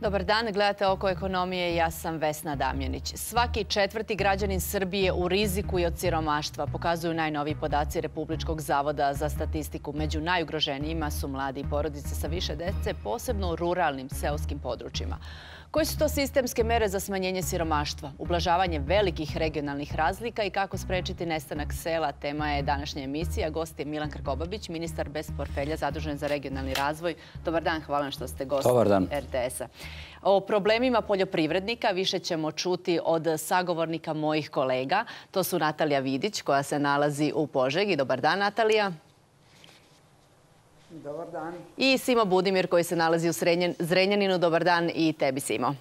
Dobar dan, gledate Oko ekonomije, ja sam Vesna Damjanić. Svaki četvrti građanin Srbije u riziku je od siromaštva, pokazuju najnoviji podaci Republičkog zavoda za statistiku. Među najugroženijima su mladi i porodice sa više dece, posebno u ruralnim seoskim područjima. Koje su to sistemske mere za smanjenje siromaštva, ublažavanje velikih regionalnih razlika i kako sprečiti nestanak sela? Tema je današnja emisija. Gost je Milan Krkobabić, ministar bez portfelja zadužen za regionalni razvoj. Dobar dan, hvala što ste gost RTS-a. O problemima poljoprivrednika više ćemo čuti od sagovornika mojih kolega. To su Natalija Vidić, koja se nalazi u Požegi. Dobar dan, Natalija. Dobar dan. I Simo Budimir, koji se nalazi u Zrenjaninu. Dobar dan i tebi, Simo.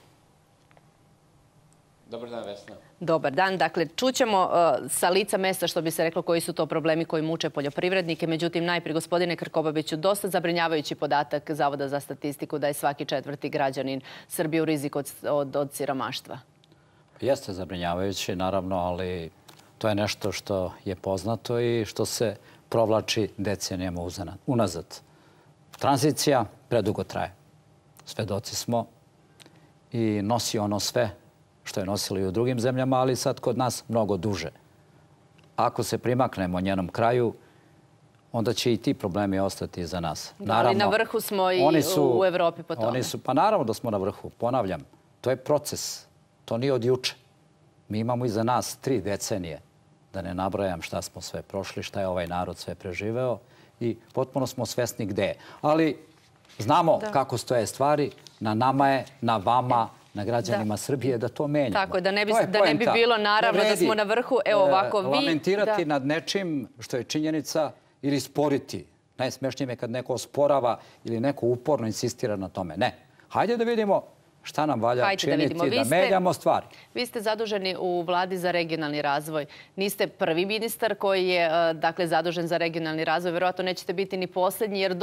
Dobar dan, Vesna. Dobar dan. Dakle, čućemo sa lica mesta, što bi se reklo, koji su to problemi koji muče poljoprivrednike. Međutim, najprije, gospodine Krkobabiću, dosta zabrinjavajući podatak Zavoda za statistiku da je svaki četvrti građanin Srbije u riziku od siromaštva. Jeste zabrinjavajući, naravno, ali to je nešto što je poznato i što se provlači decenijama unazad. Tranzicija predugo traje. Svedoci smo i nosi ono sve što je nosilo i u drugim zemljama, ali sad kod nas mnogo duže. Ako se primaknemo njenom kraju, onda će i ti problemi ostati za nas. Da, ali na vrhu smo i u Evropi po tome. Pa naravno da smo na vrhu. Ponavljam, to je proces. To nije od juče. Mi imamo iza nas 3 decenije. Da ne nabrajam šta smo sve prošli, šta je ovaj narod sve preživeo i potpuno smo svesni gde je. Ali znamo kako stoje stvari, na nama je, na vama, na građanima Srbije da to menjamo. Tako je, da ne bi bilo naravno da smo na vrhu. Evo ovako vi... Lamentirati nad nečim što je činjenica ili sporiti. Najsmešnije je kad neko osporava ili neko uporno insistira na tome. Ne. Hajde da vidimo šta nam valja činiti da menjamo stvari. Vi ste zaduženi u Vladi za regionalni razvoj. Niste prvi ministar koji je zadužen za regionalni razvoj. Verovatno nećete biti ni posljednji, jer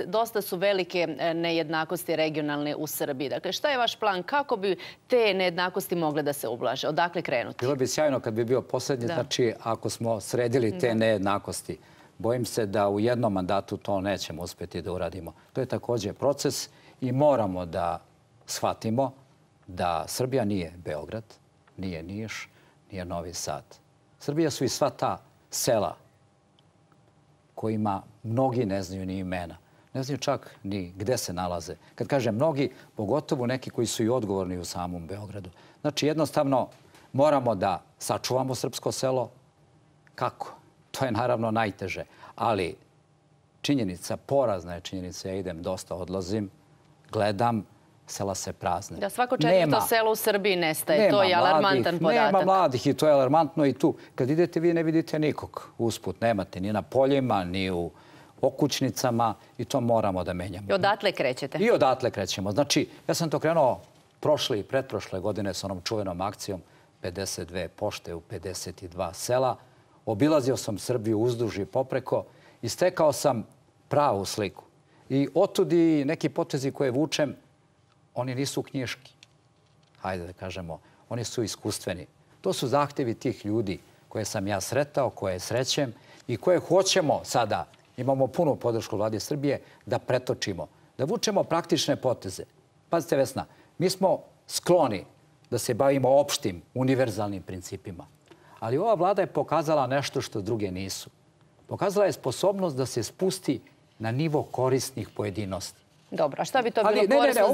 dosta su velike nejednakosti regionalne u Srbiji. Dakle, šta je vaš plan? Kako bi te nejednakosti mogle da se ublaže? Odakle krenuti? Bilo bi sjajno kad bi bio posljednji, znači ako smo sredili te nejednakosti. Bojim se da u jednom mandatu to nećemo uspjeti da uradimo. To je također proces i moramo da shvatimo da Srbija nije Beograd, nije Niš, nije Novi Sad. Srbija su i sva ta sela kojima mnogi ne znaju ni imena. Ne znaju čak ni gde se nalaze. Kad kažem mnogi, pogotovo neki koji su i odgovorni u samom Beogradu. Znači, jednostavno moramo da sačuvamo srpsko selo. Kako? To je naravno najteže. Ali činjenica, porazna je činjenica, ja idem dosta, odlazim, gledam, sela se prazne. Da, svako četvrto selo u Srbiji nestaje. To je alarmantan podatak. Nema mladih i to je alarmantno i tu. Kad idete, vi ne vidite nikog usput. Nemate ni na poljima, ni u okućnicama i to moramo da menjamo. I odatle krećete? I odatle krećemo. Znači, ja sam to krenuo prošle i pretprošle godine s onom čuvenom akcijom 52 pošte u 52 sela. Obilazio sam Srbiju uzduž i popreko i stekao sam pravu sliku. I otud i neki potezi koje vučem, oni nisu knjiški. Hajde da kažemo, oni su iskustveni. To su zahtevi tih ljudi koje sam ja sretao, koje srećem i koje hoćemo sada, imamo punu podršku Vlade Srbije, da pretočimo, da vučemo praktične poteze. Pazite, Vesna, mi smo skloni da se bavimo opštim, univerzalnim principima. Ali ova vlada je pokazala nešto što druge nisu. Pokazala je sposobnost da se spusti na nivo korisnih pojedinosti. Dobro, a šta bi to bilo korisno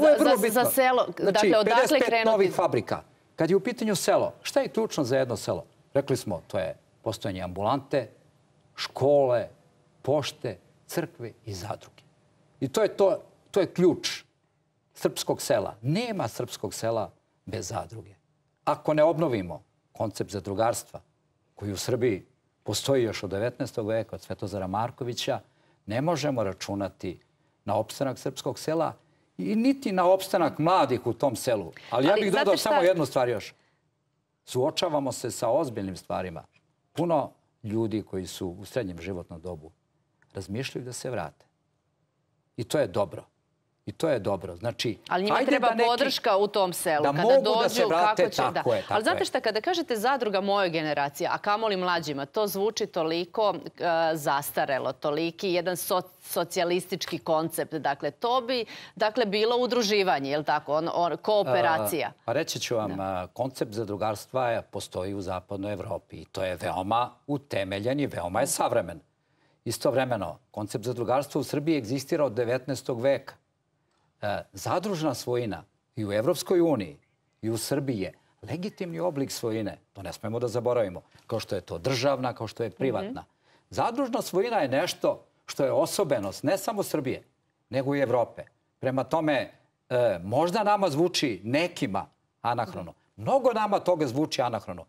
za selo? Znači, 55 novih fabrika. Kad je u pitanju selo, šta je ključno za jedno selo? Rekli smo, to je postojanje ambulante, škole, pošte, crkve i zadruge. I to je ključ srpskog sela. Nema srpskog sela bez zadruge. Ako ne obnovimo koncept zadrugarstva, koji u Srbiji postoji još od 19. veka, od Svetozara Markovića, ne možemo računati na opstanak srpskog sela i niti na opstanak mladih u tom selu. Ali ja bih dodao samo jednu stvar još. Suočavamo se sa ozbiljnim stvarima. Puno ljudi koji su u srednjem životnom dobu razmišljaju da se vrate. I to je dobro. I to je dobro. Znači, ali njima treba podrška u tom selu. Da mogu da se vrate, tako je. Ali znate šta, kada kažete zadruga mojoj generaciji, a kamoli mlađima, to zvuči toliko zastarelo, toliki jedan socijalistički koncept. Dakle, to bi bilo udruživanje, je li tako? Kooperacija. Pa reći ću vam, koncept zadrugarstva postoji u zapadnoj Evropi i to je veoma utemeljen i veoma je savremen. Istovremeno, koncept zadrugarstva u Srbiji egzistira od 19. veka. Zadružna svojina i u Evropskoj uniji i u Srbiji je legitimni oblik svojine. To ne smemo da zaboravimo. Kao što je to državna, kao što je privatna. Zadružna svojina je nešto što je osobenost ne samo Srbije, nego i Evrope. Prema tome, možda nama zvuči nekima anahrono. Mnogo nama toga zvuči anahrono.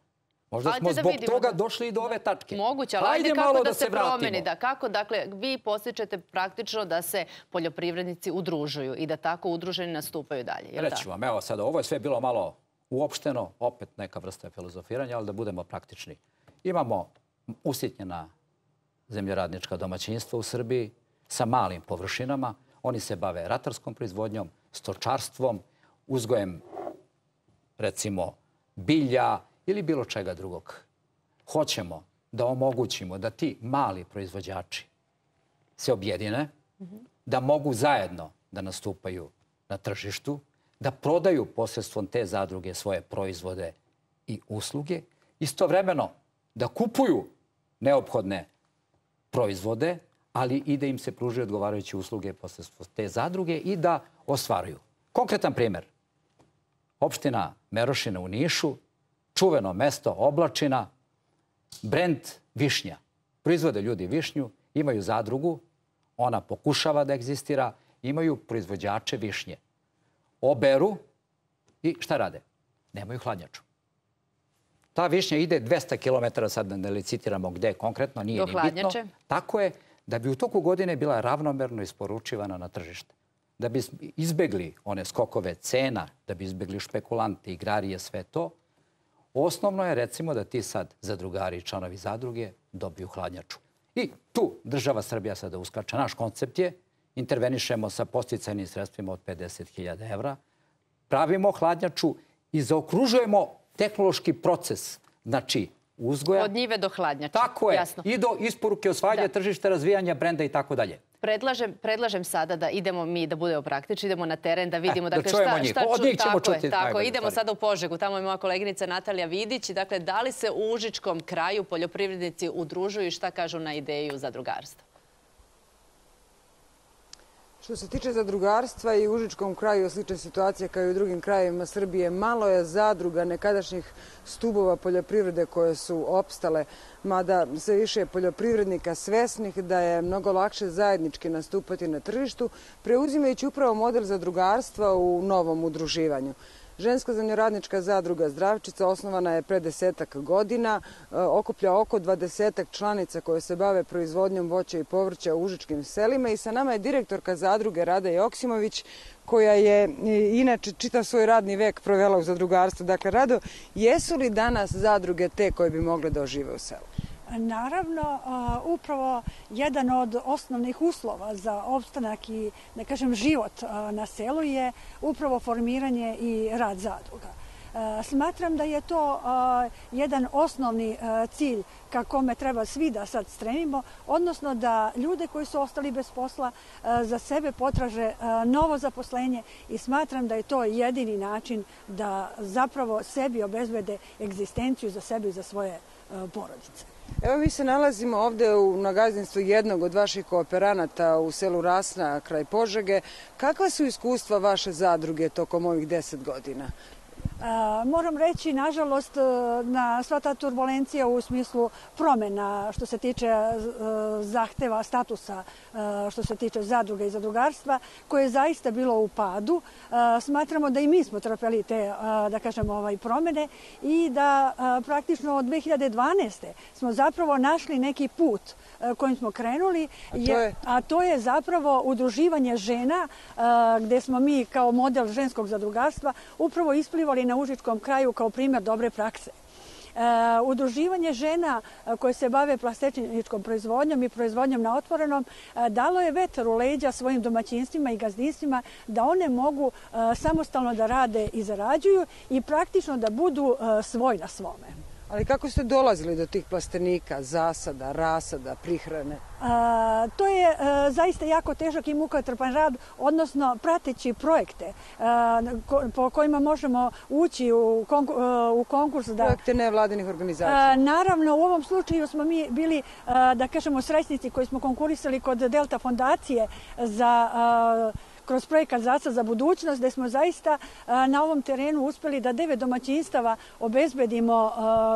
Možda smo zbog toga došli i do ove tačke. Moguće, ali ajde kako da se promeni. Kako, dakle, vi postičete praktično da se poljoprivrednici udružuju i da tako udruženi nastupaju dalje. Reći vam, evo sada, ovo je sve bilo malo uopšteno, opet neka vrsta filozofiranja, ali da budemo praktični. Imamo usitnjena zemljoradnička domaćinstva u Srbiji sa malim površinama. Oni se bave ratarskom proizvodnjom, stočarstvom, uzgojem, recimo, bilja, ili bilo čega drugog. Hoćemo da omogućimo da ti mali proizvođači se objedine, da mogu zajedno da nastupaju na tržištu, da prodaju posredstvom te zadruge svoje proizvode i usluge, istovremeno da kupuju neophodne proizvode, ali i da im se pružaju odgovarajuće usluge posredstvom te zadruge i da ostvaruju. Konkretan primjer. Opština Merošina u Nišu, čuveno mesto Oblačina, brend višnja. Proizvode ljudi višnju, imaju zadrugu, ona pokušava da egzistira, imaju proizvođače višnje. Oberu i šta rade? Nemaju hladnjaču. Ta višnja ide 200 km, sad ne licitiramo gde konkretno, nije ni bitno. Tako je, da bi u toku godine bila ravnomerno isporučivana na tržište. Da bi izbegli one skokove cena, da bi izbegli špekulanti, igrarije, sve to, osnovno je, recimo, da ti sad zadrugari i članovi zadruge dobiju hladnjaču. I tu država Srbija sada uskače. Naš koncept je, intervenišemo sa podsticajnim sredstvima od 50.000 evra, pravimo hladnjaču i zaokružujemo tehnološki proces, znači uzgoja. Od njive do hladnjače. Tako je. I do isporuke, osvajanja tržišta, razvijanja brenda i tako dalje. Predlažem sada da idemo mi, da budemo praktični, idemo na teren, da vidimo da čujemo njih. Od njih ćemo čuti. Tako, idemo sada u Požegu. Tamo je moja koleginica Natalija Vidić. Dakle, da li se u užičkom kraju poljoprivrednici udružuju i šta kažu na ideju zadrugarstva? Što se tiče zadrugarstva i u užičkom kraju slična situacija kao i u drugim krajevima Srbije, malo je zadruga nekadašnjih stubova poljoprivrede koje su opstale, mada sve više je poljoprivrednika svesnih da je mnogo lakše zajednički nastupati na tržištu, preuzimajući upravo model zadrugarstva u novom udruživanju. Ženska zemljoradnička zadruga Zdravčica osnovana je pre 10 godina, okuplja oko 20 članica koje se bave proizvodnjom voća i povrća u užičkim selima i sa nama je direktorka zadruge Rada Joksimović koja je inače čitav svoj radni vek provela u zadrugarstvu. Dakle, Rado, jesu li danas zadruge te koje bi mogle da ožive u selu? Naravno, upravo jedan od osnovnih uslova za opstanak i, da kažem, život na selu je upravo formiranje i rad zadruga. Smatram da je to jedan osnovni cilj ka kome treba svi da sad stremimo, odnosno da ljude koji su ostali bez posla za sebe potraže novo zaposlenje i smatram da je to jedini način da zapravo sebi obezbede egzistenciju za sebe i za svoje porodice. Evo, mi se nalazimo ovde na gazdinstvu jednog od vaših kooperanata u selu Rasna kraj Požege. Kakva su iskustva vaše zadruge tokom ovih 10 godina? Moram reći, nažalost, na sva ta turbulencija u smislu promjena što se tiče zahteva statusa, što se tiče zadruga i zadrugarstva, koje je zaista bilo u padu. Smatramo da i mi smo trpeli te, da kažem, promjene i da praktično od 2012. smo zapravo našli neki put kojim smo krenuli, a to je zapravo udruživanje žena, gde smo mi kao model ženskog zadrugarstva upravo isplivali na užičkom kraju kao primjer dobre prakse. Udruživanje žena koje se bave plastičničkom proizvodnjom i proizvodnjom na otvorenom dalo je vetar u leđa svojim domaćinstvima i gazdinstvima da one mogu samostalno da rade i zarađuju i praktično da budu svoj na svome. Ali kako ste dolazili do tih plastenika, zasada, rasada, prihrane? To je zaista jako težak i mukotrpan rad, odnosno prateći projekte po kojima možemo ući u konkurs. Projekte nevladinih organizacija. Naravno, u ovom slučaju smo mi bili, da kažemo, srećnici koji smo konkurisali kod Delta fondacije kroz projekat Zasad za budućnost, gde smo zaista na ovom terenu uspeli da 9 domaćinstava obezbedimo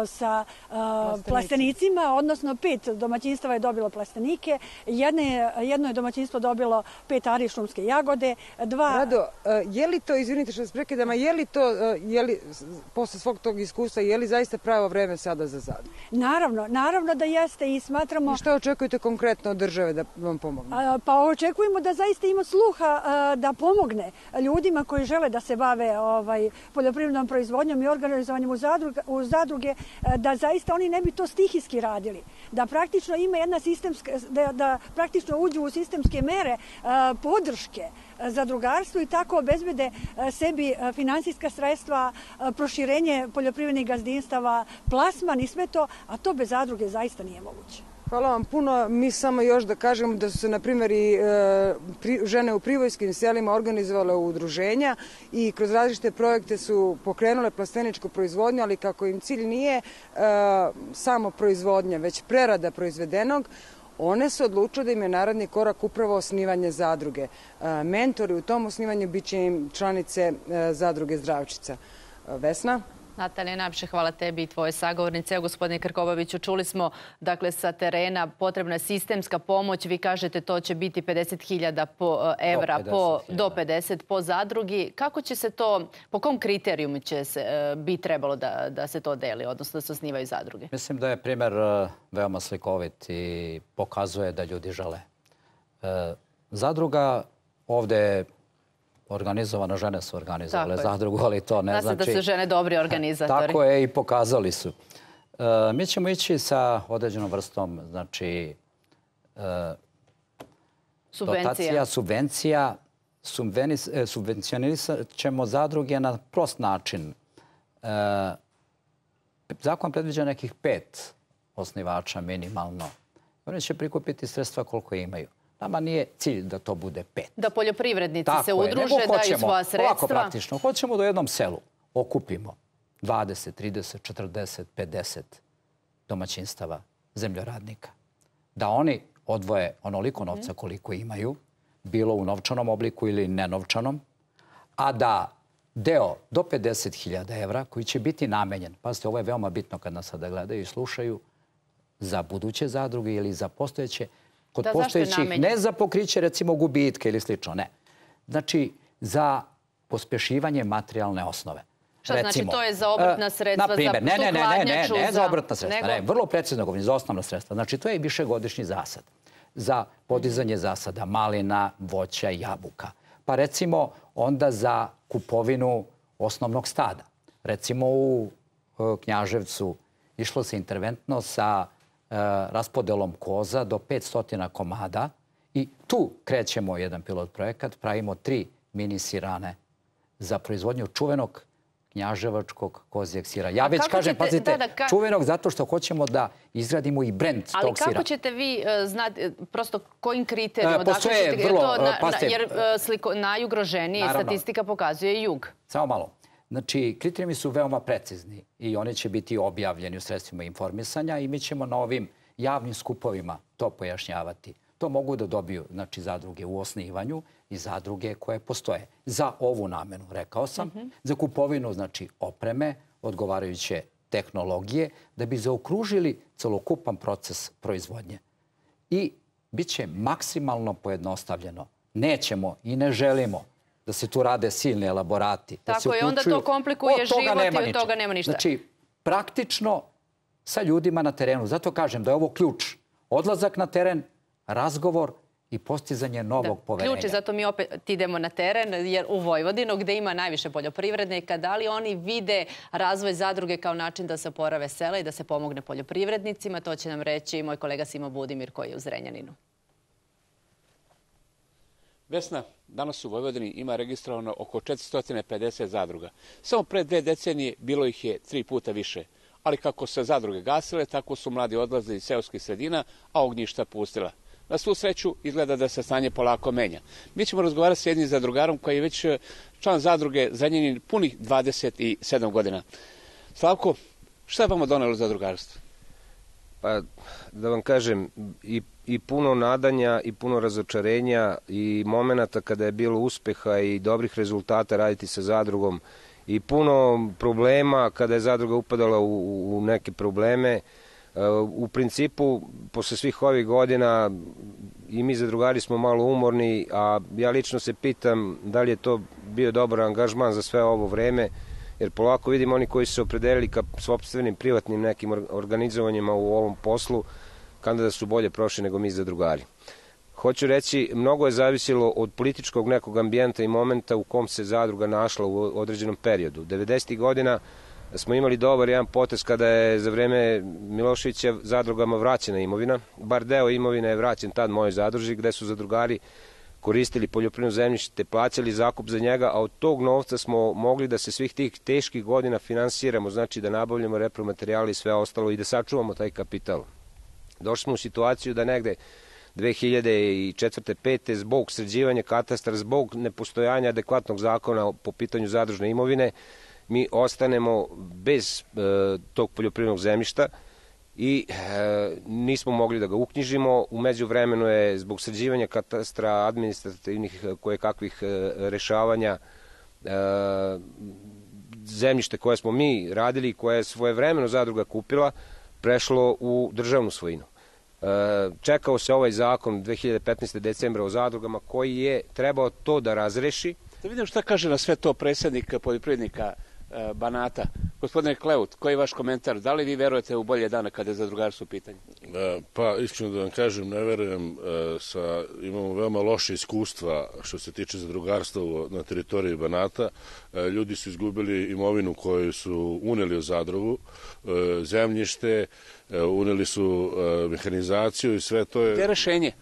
sa plastenicima, odnosno 5 domaćinstava je dobilo plastenike, jedno je domaćinstvo dobilo 5 ari šumske jagode, 2... Rado, je li to, izvinite što vas prekidam, je li to, posle svog tog iskustva, je li zaista pravo vreme sada za zadruge? Naravno da jeste i smatramo... I šta očekujete konkretno od države da vam pomogne? Pa očekujemo da zaista ima sluha da pomogne ljudima koji žele da se bave poljoprivrednom proizvodnjom i organizovanjem u zadruge, da zaista oni ne bi to stihijski radili. Da praktično ima jedna sistemska, da praktično uđu u sistemske mere podrške zadrugarstvu i tako obezbede sebi finansijska sredstva, proširenje poljoprivrednih gazdinstava, plasman i sve to, a to bez zadruge zaista nije moguće. Hvala vam puno. Mi samo još da kažemo da su se, na primjer, i žene u privojskim selima organizovale udruženja i kroz različite projekte su pokrenule plasteničku proizvodnju, ali kako im cilj nije samo proizvodnja, već prerada proizvedenog, one su odlučile da im je naredni korak upravo osnivanje zadruge. Mentori u tom osnivanju bit će im članice zadruge Zdravčica. Vesna? Natalija, najviše hvala tebi i tvoje sagovornice. Evo, gospodine Krkobabiću, čuli smo sa terena potrebna je sistemska pomoć. Vi kažete to će biti 50.000 evra do 50 po zadrugi. Kako će se to, po kom kriterijumu bi trebalo da se to deli, odnosno da se osnivaju zadruge? Mislim da je primjer veoma slikovit i pokazuje da ljudi žele. Zadruga ovde je organizovano, žene su organizovale zadrugu, ali to ne znači... Zna se da su žene dobri organizatori. Tako je i pokazali su. Mi ćemo ići sa određenom vrstom, znači, dotacija, subvencija. Subvencionisat ćemo zadruge na prost način. Zakon predviđa nekih 5 osnivača minimalno. Oni će prikupiti sredstva koliko imaju. Nama nije cilj da to bude 5. Da poljoprivrednici se udruže, daju svoja sredstva. Ovako praktično. Hoćemo da u jednom selu okupimo 20, 30, 40, 50 domaćinstava zemljoradnika. Da oni odvoje onoliko novca koliko imaju, bilo u novčanom obliku ili nenovčanom, a da deo do 50.000 evra koji će biti namenjen, pazite, ovo je veoma bitno kad nas sada gledaju i slušaju, za buduće zadruge ili za postojeće, kod postojećih, ne za pokriće recimo gubitka ili slično, ne. Znači, za pospešivanje materijalne osnove. Šta znači to je za obrtna sredstva, za tu hladnjaču? Ne za obrtna sredstva, ne, vrlo precizno govorim, za osnovna sredstva. Znači, to je višegodišnji zasad. Za podizanje zasada malina, voća, jabuka. Pa recimo onda za kupovinu osnovnog stada. Recimo u Knjaževcu išlo se interventno sa raspodelom koza do 500 komada i tu krećemo jedan pilot projekat, pravimo 3 mini sirane za proizvodnju čuvenog knjaževačkog kozijeg sira. Ja već kažem, pazite, čuvenog zato što hoćemo da izgradimo i brend tog sira. Ali kako ćete vi znati, prosto kojim kriterijom? Postoje vrlo, pazite... Jer najugroženije statistika pokazuje jug. Samo malo. Znači, kriterijumi su veoma precizni i oni će biti objavljeni u sredstvima informisanja i mi ćemo na ovim javnim skupovima to pojašnjavati. To mogu da dobiju, znači, zadruge u osnivanju i zadruge koje postoje. Za ovu namenu, rekao sam, za kupovinu, znači, opreme, odgovarajuće tehnologije, da bi zaokružili celokupan proces proizvodnje. I bit će maksimalno pojednostavljeno. Nećemo i ne želimo da se tu rade silni elaborati. Tako je, onda to komplikuje život i od toga nema ništa. Znači, praktično sa ljudima na terenu. Zato kažem da je ovo ključ. Odlazak na teren, razgovor i postizanje novog poverenja. Ključ je, zato mi opet idemo na teren, jer u Vojvodinu, gde ima najviše poljoprivrednika, da li oni vide razvoj zadruge kao način da se oporave sela i da se pomogne poljoprivrednicima, to će nam reći moj kolega Simo Budimir koji je u Zrenjaninu. Vesna, danas u Vojvodini ima registrovano oko 450 zadruga. Samo pre 2 decenije bilo ih je 3 puta više. Ali kako se zadruge gasile, tako su mladi odlazili iz seoskih sredina, a ognjišta pustila. Na svu sreću izgleda da se stanje polako menja. Mi ćemo razgovarati s jednim zadrugarom koji je već član zadruge Zrenjanin punih 27 godina. Slavko, šta je vama donelo zadrugarstvo? Pa, da vam kažem, i puno nadanja i puno razočarenja i momenata kada je bilo uspeha i dobrih rezultata raditi sa zadrugom i puno problema kada je zadruga upadala u neke probleme. U principu, posle svih ovih godina i mi zadrugari smo malo umorni, a ja lično se pitam da li je to bio dobar angažman za sve ovo vreme, jer polako vidimo oni koji su se opredelili ka sopstvenim privatnim nekim organizovanjima u ovom poslu, kada da su bolje prošli nego mi zadrugari. Hoću reći, mnogo je zavisilo od političkog nekog ambijenta i momenta u kom se zadruga našla u određenom periodu. 90. godina smo imali dobar jedan potez kada je za vreme Miloševića zadrugama vraćena imovina. Bar deo imovine je vraćen tad mojoj zadruži, gde su zadrugari koristili poljoprivredno zemljište, plaćali zakup za njega, a od tog novca smo mogli da se svih tih teških godina finansiramo, znači da nabavljamo repromaterijali i sve ostalo i da sačuvamo taj kapital. Došli smo u situaciju da negde 2004. 5. zbog sređivanja katastra, zbog nepostojanja adekvatnog zakona po pitanju zadružne imovine, mi ostanemo bez tog poljoprivrednog zemljišta i nismo mogli da ga uknjižimo. U međuvremenu je zbog sređivanja katastra, administrativnih kojekakvih rešavanja, zemljište koje smo mi radili i koje je svojevremeno zadruga kupila, prešlo u državnu svojinu. Čekao se ovaj zakon 2015. decembra o zadrugama koji je trebao to da razreši. Da vidim šta kaže na sve to predsjednik poljoprivrednika Banata. Gospodine Kleut, koji je vaš komentar? Da li vi verujete u bolje dane kada je zadrugarstvo u pitanju? Pa, iskreno da vam kažem, ne verujem. Imamo veoma loše iskustva što se tiče zadrugarstva na teritoriji Banata. Ljudi su izgubili imovinu koju su uneli u zadrugu, zemljište, uneli su mehanizaciju i sve to je... Gde je rešenje?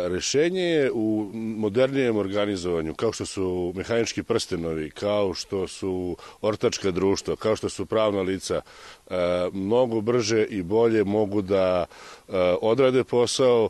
Rešenje je u modernijem organizovanju, kao što su mehanički prstenovi, kao što su ortačka društva, kao što su pravna lica, mnogo brže i bolje mogu da odrade posao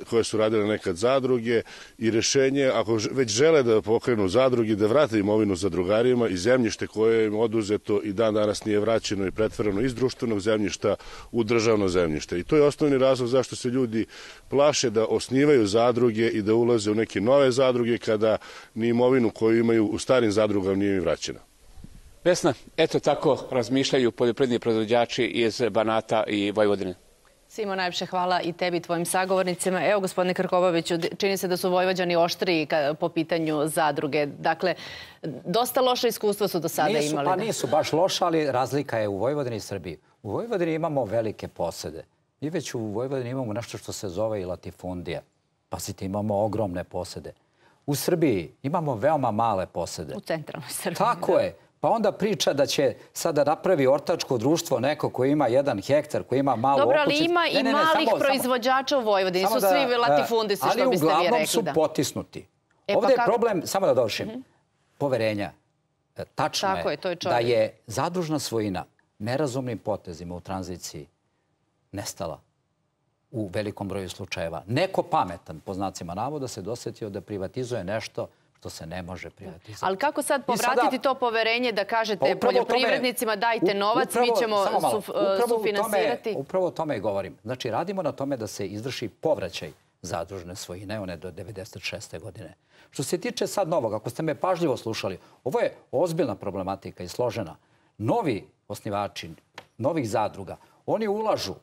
koje su radile nekad zadruge i rešenje, ako već žele da pokrenu zadruge, da vrate imovinu zadrugarima i zemljište koje im oduzeto i dan danas nije vraćeno i pretvoreno iz društvenog zemljišta u državno zemljište. I to je osnovni razlog zašto se ljudi plaše da osnivaju zadruge i da ulaze u neke nove zadruge kada ni imovinu koju imaju u starim zadrugama nije im vraćena. Vesna, eto tako razmišljaju poljoprivredni proizvođači iz Banata i Vojvodine. Simo, najlepše hvala i tebi i tvojim sagovornicima. Evo, gospodine Krkobabiću, čini se da su Vojvođani oštriji po pitanju zadruge. Dakle, dosta loše iskustva su do sada imali. Pa nisu baš loša, ali razlika je u Vojvodini i Srbiji. U Vojvodini imamo velike posede. Mi već u Vojvodini imamo nešto što se zove i latifundija. Pazite, imamo ogromne posede. U Srbiji imamo veoma male posede. U centralnoj Srbiji. Tako je. Pa onda priča da će sada napravi ortačko društvo neko koji ima 1 hektar, koji ima malu okućicu. Dobro, ali ima i malih proizvođača u Vojvodini. Su svi latifundisti, što biste vi rekli. Ali uglavnom su potisnuti. Ovdje je problem, samo da dovršim, poverenja. Tačno je da je zadružna svojina nerazumnim potezima u tranziciji nestala u velikom broju slučajeva. Neko pametan, po znacima navoda, se dosetio da privatizuje nešto što se ne može privatizati. Ali kako sad povratiti to poverenje da kažete poljoprivrednicima dajte novac, mi ćemo sufinansirati? Upravo o tome govorim. Znači, radimo na tome da se izvrši povraćaj zadružne svojine, one do 96. godine. Što se tiče sad novog, ako ste me pažljivo slušali, ovo je ozbiljna problematika i složena. Novi osnivači, novih zadruga, oni ulažu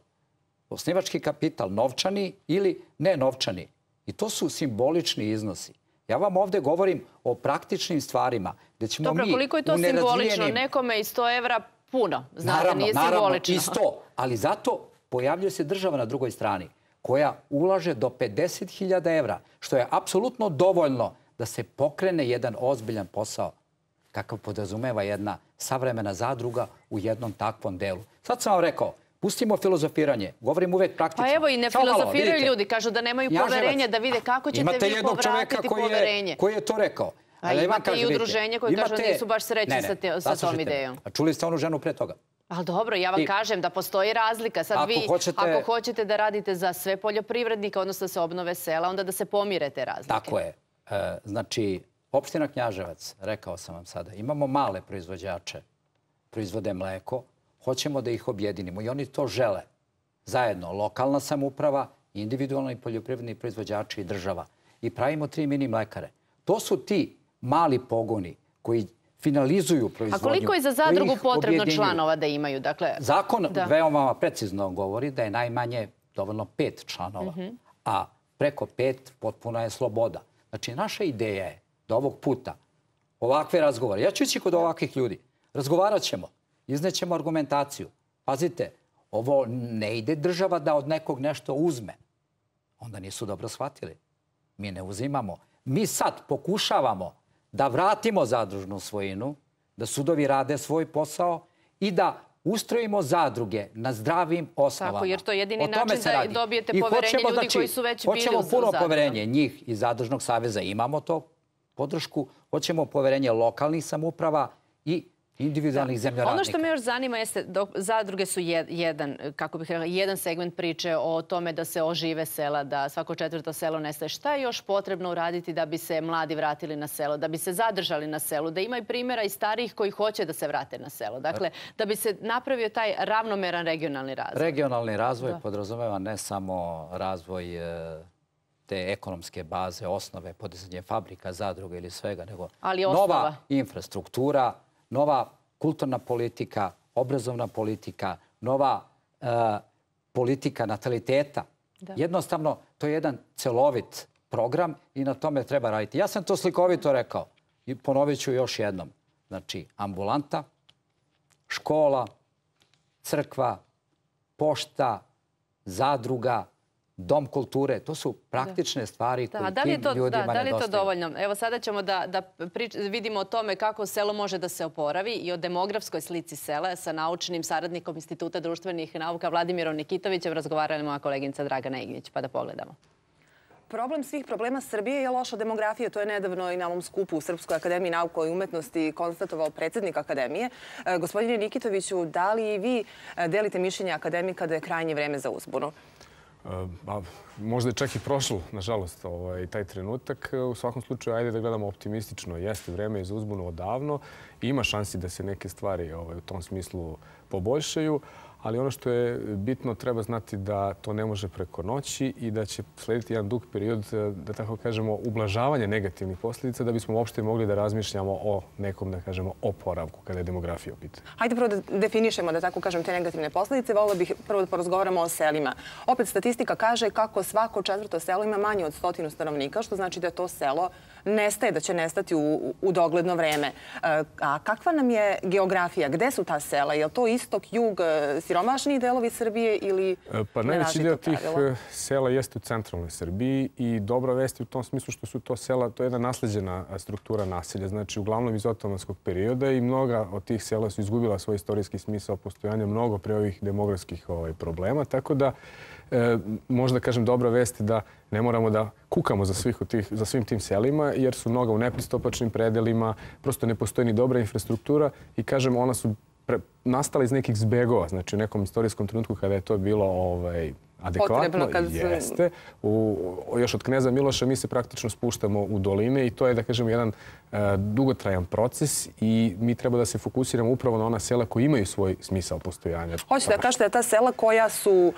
osnivački kapital, novčani ili nenovčani. I to su simbolični iznosi. Ja vam ovdje govorim o praktičnim stvarima gdje ćemo mi u nerazvijenim... Koliko je to simbolično? Nekome i 100 evra puno. Znate, nije simbolično. Naravno, i 100. Ali zato pojavljuje se država na drugoj strani koja ulaže do 50.000 evra, što je apsolutno dovoljno da se pokrene jedan ozbiljan posao kakav podrazumeva jedna savremena zadruga u jednom takvom delu. Sad sam vam rekao, pustimo filozofiranje, govorim uvek praktično. Pa evo i ne filozofiraju ljudi, kažu da nemaju poverenja, da vide kako ćete vi povratiti poverenje. Koji je to rekao. A imate i udruženje koje kažu da nisu baš srećni sa tom idejom. A čuli ste onu ženu pre toga? Ali dobro, ja vam kažem da postoji razlika. Sad vi, ako hoćete da radite za sve poljoprivrednike, odnosno da se obnove sela, onda da se pomire te razlike. Tako je. Znači, opština Knjaževac, rekao sam vam sada, imamo male proizvođače, proizvode mleko, hoćemo da ih objedinimo i oni to žele. Zajedno, lokalna samouprava, individualni poljoprivredni proizvođači i država. I pravimo 3 mini mlekare. To su ti mali pogoni koji finalizuju proizvodnju. A koliko je za zadrugu potrebno članova da imaju? Zakon veoma precizno govori da je najmanje dovoljno 5 članova, a preko 5 potpuna je sloboda. Znači, naša ideja je da ovog puta ovakve razgovore, ja ću ići kod ovakvih ljudi, razgovarat ćemo, iznećemo argumentaciju. Pazite, ovo ne ide država da od nekog nešto uzme. Onda nisu dobro shvatili. Mi ne uzimamo. Mi sad pokušavamo da vratimo zadružnu svojinu, da sudovi rade svoj posao i da ustrojimo zadruge na zdravim osnovama. Tako, jer to je jedini način da dobijete poverenje ljudi koji su već bili u zadrugu. Hoćemo puno poverenje njih iz Zadružnog saveza. Imamo to podršku. Hoćemo poverenje lokalnih samouprava i individualnih zemljoradnika. Ono što me još zanima jeste, zadruge su jedan segment priče o tome da se ožive sela, da svako 4. selo nestaje. Šta je još potrebno uraditi da bi se mladi vratili na selo, da bi se zadržali na selu, da ima i primjera i starijih koji hoće da se vrate na selo? Dakle, da bi se napravio taj ravnomeran regionalni razvoj. Regionalni razvoj podrazumeva ne samo razvoj te ekonomske baze, osnove, podizanje fabrika, zadruga ili svega, nego nova infrastruktura, nova kulturna politika, obrazovna politika, nova politika nataliteta. Jednostavno, to je jedan celovit program i na tome treba raditi. Ja sam to slikovito rekao i ponovit ću još jednom. Znači, ambulanta, škola, crkva, pošta, zadruga, dom kulture, to su praktične stvari koje tim ljudima nedostaju. Da li je to dovoljno? Evo sada ćemo da vidimo o tome kako selo može da se oporavi i o demografskoj slici sela sa naučnim saradnikom Instituta društvenih nauka Vladimirom Nikitovićem razgovarala moja koleginica Dragana Ignjić. Pa da pogledamo. Problem svih problema Srbije je loša demografija. To je nedavno i na ovom skupu u Srpskoj akademiji nauka i umetnosti konstatovao predsjednik akademije. Gospodine Nikitoviću, da li i vi delite mišljenje akademika da je krajnje vreme za uzbunu? Možda je čak i prošlo, nažalost, taj trenutak. U svakom slučaju, ajde da gledamo optimistično. Jeste vreme za uzbunu odavno. Ima šansi da se neke stvari u tom smislu poboljšaju. Ali ono što je bitno, treba znati da to ne može preko noći i da će slediti jedan dug period, da tako kažemo, ublažavanja negativnih posljedica da bismo uopšte mogli da razmišljamo o nekom, da kažemo, oporavku kada je demografija u pitanju. Hajde prvo da definišemo, da tako kažem, te negativne posljedice. Volila bih prvo da porazgovaramo o selima. Opet statistika kaže kako svako 4. selo ima manje od 100 stanovnika, što znači da to selo nestaje, da će nestati u dogledno vreme. A kakva nam je geografija? Gde su ta sela? Je li to istok, jug, siromašniji delovi Srbije ili pa najveći dio tih sela jeste u centralnoj Srbiji i dobra vest je u tom smislu što su to sela, to je jedna nasleđena struktura naselja, znači uglavnom iz otomanskog perioda i mnoga od tih sela su izgubila svoj istorijski smisao postojanja mnogo pre ovih demografskih problema, tako da možda kažem dobra vest je da ne moramo da kukamo za svim tim selima jer su mnoga u nepristupačnim predelima, prosto ne postoji ni dobra infrastruktura i kažem ona su nastala iz nekih zbegova, znači u nekom istorijskom trenutku kada je to bilo adekvatno, jeste. Još od kneza Miloša mi se praktično spuštamo u doline i to je, da kažem, jedan dugotrajan proces i mi treba da se fokusiramo upravo na ona sela koji imaju svoj smisao postojanja. Hoćete da kažete da ta sela koja su,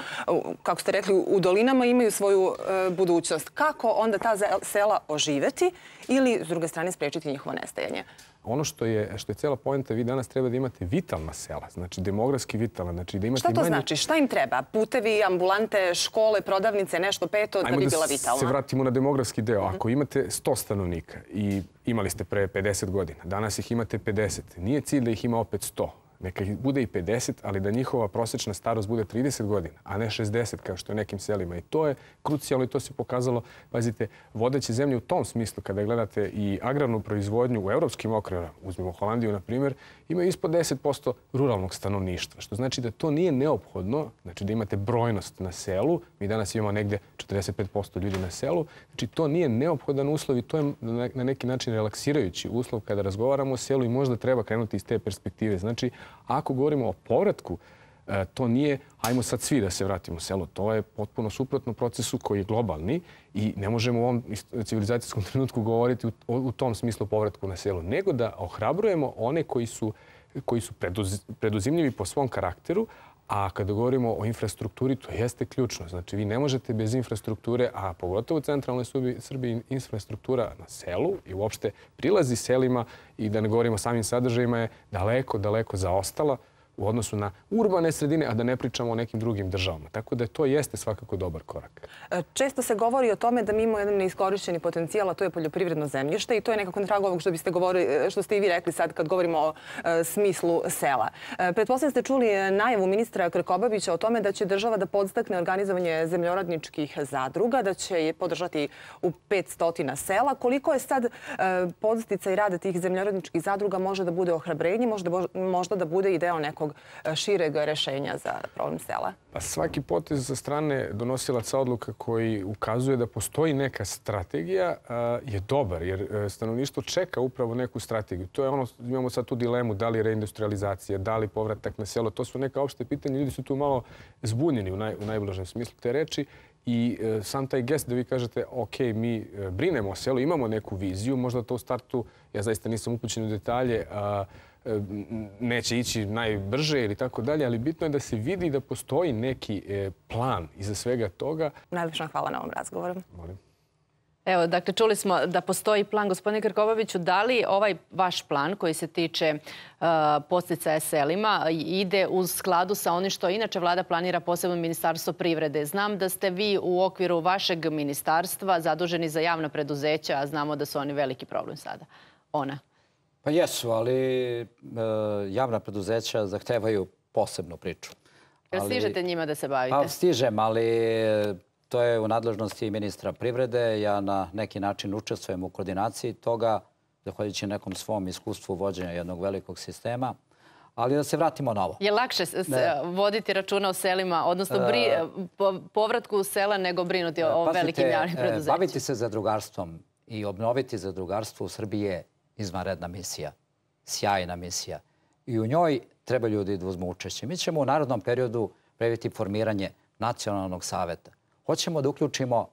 kako ste rekli, u dolinama imaju svoju budućnost. Kako onda ta sela oživeti ili, s druge strane, sprečiti njihovo nestajanje? Ono što je cijela poenta, vi danas treba da imate vitalna sela, znači demografski vitalna. Znači da imate šta to znači? Šta im treba? Putevi, ambulante, škole, prodavnice, nešto peto da bi bila vitalna? Ajmo da se vratimo na demografski deo. Ako imate 100 stanovnika i imali ste pre 50 godina, danas ih imate 50, nije cilj da ih ima opet 100. neka ih bude i 50, ali da njihova prosječna starost bude 30 godina, a ne 60 kao što je u nekim selima. I to je krucijalno i to se pokazalo, pazite, vodeće zemlje u tom smislu, kada gledate i agrarnu proizvodnju u evropskim okvirima, uzmimo Holandiju na primjer, imaju ispod 10% ruralnog stanovništva, što znači da to nije neophodno, znači da imate brojnost na selu, mi danas imamo negde 45% ljudi na selu, znači to nije neophodan uslov i to je na neki način relaksirajući uslov kada razgovaramo o selu i možda treba krenuti iz te perspektive. Znači, ako govorimo o povratku, to nije, ajmo sad svi da se vratimo u selo. To je potpuno suprotno procesu koji je globalni i ne možemo u ovom civilizacijskom trenutku govoriti u tom smislu povratku na selo, nego da ohrabrujemo one koji su preduzimljivi po svom karakteru, a kada govorimo o infrastrukturi, to jeste ključno. Znači, vi ne možete bez infrastrukture, a pogotovo u centralnoj Srbiji infrastruktura na selu i uopšte prilazi selima i da ne govorimo o samim sadržajima je daleko zaostala u odnosu na urbane sredine, a da ne pričamo o nekim drugim državama. Tako da to jeste svakako dobar korak. Često se govori o tome da mi imamo jedan neiskorišćeni potencijal, a to je poljoprivredno zemljište i to je nekako na tragu ovog što ste i vi rekli sad kad govorimo o smislu sela. Pretpostavljam ste čuli najavu ministra Krkobabića o tome da će država da podstakne organizovanje zemljoradničkih zadruga, da će je podržati u 500 sela. Koliko je sad podsticaj rada tih zemljoradničkih zadruga može da bude ohrabrenje, možda da bude i deo nekog šireg rešenja za problem sela? Pa svaki potez sa strane donosilaca odluka koji ukazuje da postoji neka strategija je dobar, jer stanovništvo čeka upravo neku strategiju. To je ono, imamo sad tu dilemu da li reindustrializacija, da li povratak na selo. To su neka opšte pitanja. Ljudi su tu malo zbunjeni u najblažem smislu te reči. I sam taj gest da vi kažete, ok, mi brinemo o selu, imamo neku viziju, možda to u startu, ja zaista nisam upućen u detalje, neće ići najbrže ili tako dalje, ali bitno je da se vidi da postoji neki plan iza svega toga. Najlepša hvala na ovom razgovoru. Molim. Evo, dakle, čuli smo da postoji plan. Gospodine Krkobabiću, da li ovaj vaš plan koji se tiče podsticaja selima ide u skladu sa onim što inače vlada planira, posebno Ministarstvo privrede? Znam da ste vi u okviru vašeg ministarstva zaduženi za javna preduzeća, a znamo da su oni veliki problem sada. Pa jesu, ali javna preduzeća zahtevaju posebnu priču. Jel stižete njima da se bavite? Pa stižem, ali to je u nadležnosti ministra privrede. Ja na neki način učestvujem u koordinaciji toga, zahvaljujući nekom svom iskustvu vođenja jednog velikog sistema. Ali da se vratimo na ovo. Je lakše voditi računa o selima, odnosno povratku u sela, nego brinuti o velikim javnim preduzećima? Baviti se zadrugarstvom i obnoviti zadrugarstvo u Srbiji je izvanredna misija, sjajna misija. I u njoj treba ljudi da uzmu učešće. Mi ćemo u narodnom periodu predvidjeti formiranje nacionalnog saveta. Hoćemo da uključimo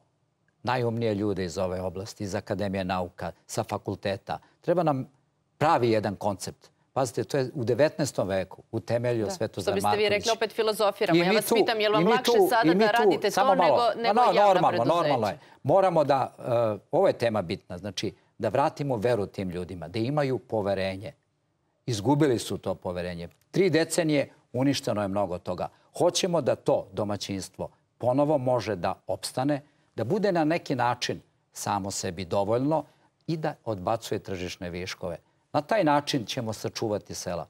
najumnije ljude iz ove oblasti, iz Akademije nauka, sa fakulteta. Treba nam pravi jedan koncept. Pazite, to je u 19. veku utemeljio Svetozar Marković. Što biste vi rekli, opet filozofiramo. Ja vas pitam, je li vam lakše sada da radite to nego javna preduzeća? Normalno je. Moramo da, ovo je tema bitna, znači da vratimo veru tim ljudima, da imaju poverenje. Izgubili su to poverenje. 3 decenije uništeno je mnogo toga. Hoćemo da to domaćinstvo ponovo može da opstane, da bude na neki način samo sebi dovoljno i da odbacuje tržišne viškove. Na taj način ćemo sačuvati sela.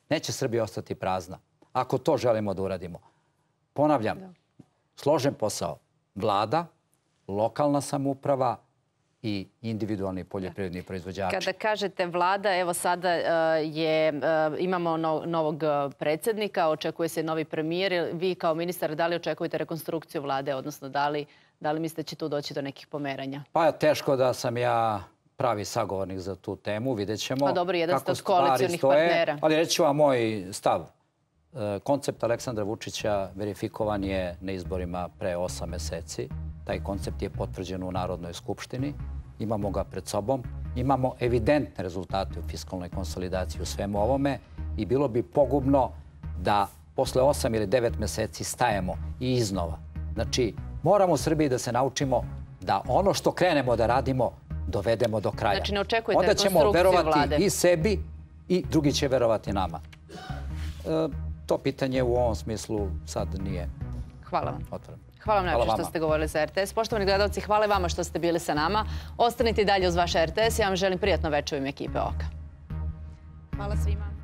Neće Srbija ostati prazna. Ako to želimo da uradimo. Ponavljam, složen posao. Vlada, lokalna samouprava i individualni poljoprivredni proizvođači. Kada kažete vlada, evo sada imamo novog predsjednika, očekuje se novi premijer. Vi kao ministar, da li očekujete rekonstrukciju vlade, odnosno da li mislite da će tu doći do nekih pomeranja? Pa teško da sam ja pravi sagovornik za tu temu. Vidjet ćemo. Pa dobro, jedan ste od koalicionih partnera. Ali reći ću vam moj stav. Koncept Aleksandra Vučića verifikovan je na izborima pre 8 meseci. Taj koncept je potvrđen u Narodnoj skupštini. Imamo ga pred sobom. Imamo evidentne rezultate u fiskalnoj konsolidaciji u svemu ovome i bilo bi pogubno da posle 8 ili 9 meseci stajemo i iznova. Znači, moramo u Srbiji da se naučimo da ono što krenemo da radimo dovedemo do kraja. Znači, ne očekujete rekonstrukciju vlade? Onda ćemo verovati i sebi i drugi će verovati nama. To pitanje u ovom smislu sad nije otvoreno. Hvala vam najviše što ste govorili za RTS. Poštovani gledalci, hvala vama što ste bili sa nama. Ostanite i dalje uz vaš RTS. Ja vam želim prijatno večer u ime ekipe Oka. Hvala svima.